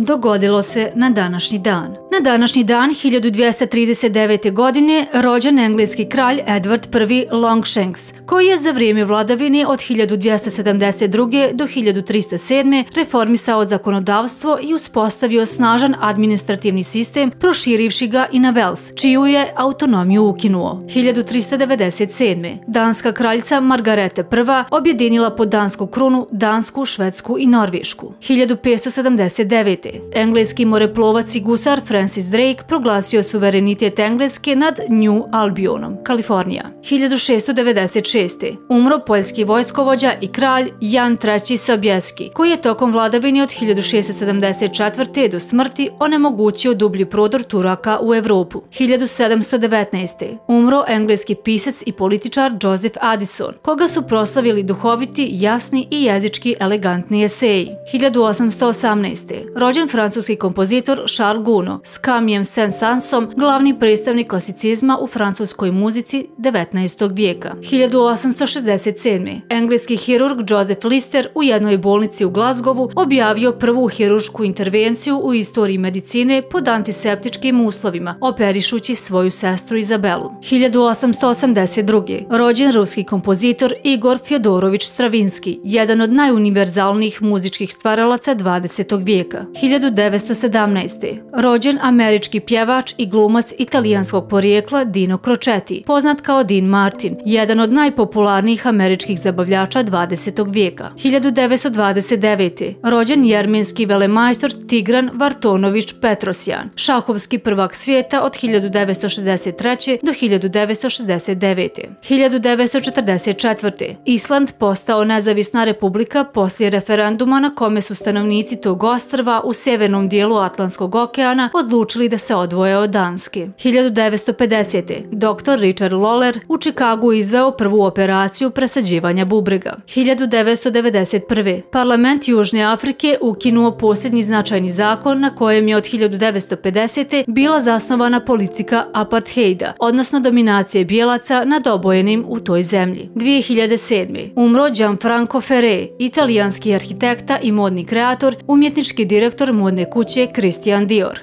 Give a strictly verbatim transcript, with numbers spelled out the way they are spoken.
Dogodilo se na današnji dan. Na današnji dan hiljadu dvjesto trideset devete. godine rođen engleski kralj Edward prvi Longshanks, koji je za vrijeme vladavine od hiljadu dvjesto sedamdeset druge. do hiljadu tristo sedme. reformisao zakonodavstvo i uspostavio snažan administrativni sistem, proširivši ga i na Vels, čiju je autonomiju ukinuo. hiljadu tristo devedeset sedme. danska kraljica Margareta prva. objedinila pod dansku krunu Dansku, Švedsku i Norvešku. hiljadu petsto sedamdeset devete. engleski moreplovac i gusar Francis Drake proglasio suverenitet Engleske nad New Albionom, Kalifornija. hiljadu šessto devedeset šeste. umro poljski vojskovođa i kralj Jan treći Sobieski, koji je tokom vladavine od hiljadu šessto sedamdeset četvrte. do smrti onemogućio dublji prodor Turaka u Evropu. hiljadu sedamsto devetnaeste. umro engleski pisac i političar Joseph Addison, koga su proslavili duhoviti, jasni i jezički elegantni eseji. hiljadu osamsto osamnaeste. rođen francuski kompozitor Charles Gounod s Camilleom Saint-Saënsom, glavni predstavnik klasicizma u francuskoj muzici devetnaestog vijeka. hiljadu osamsto šezdeset sedme. engleski hirurg Joseph Lister u jednoj bolnici u Glasgowu objavio prvu hirušku intervenciju u istoriji medicine pod antiseptičkim uslovima, operišući svoju sestru Izabelu. hiljadu osamsto osamdeset druge. rođen ruski kompozitor Igor Fjodorović Stravinski, jedan od najuniverzalnijih muzičkih stvaralaca dvadesetog vijeka. hiljadu devetsto sedamnaeste. rođen američki pjevač i glumac italijanskog porijekla Dino Crocetti, poznat kao Dean Martin, jedan od najpopularnijih američkih zabavljača dvadesetog vijeka. hiljadu devetsto dvadeset devete. rođen jermenski velemajstor Tigran Vartonović Petrosjan, šahovski prvak svijeta od hiljadu devetsto šezdeset treće. do hiljadu devetsto šezdeset devete. hiljadu devetsto četrdeset četvrte. Island postao nezavisna republika poslije referenduma na kome su stanovnici tog ostrva u severnom dijelu Atlantskog okeana odlučili da se odvoje od Danske. hiljadu devetsto pedesete. doktor Richard Lawler u Čikagu izveo prvu operaciju presađivanja bubrega. hiljadu devetsto devedeset prve. Parlament Južne Afrike ukinuo posljednji značajni zakon na kojem je od hiljadu devetsto pedesete. bila zasnovana politika apartheida, odnosno dominacije bijelaca nad obojenim u toj zemlji. dvije hiljade sedme. umro Gianfranco Ferré, italijanski arhitekta i modni kreator, umjetnički direktor modne kuće Christian Dior.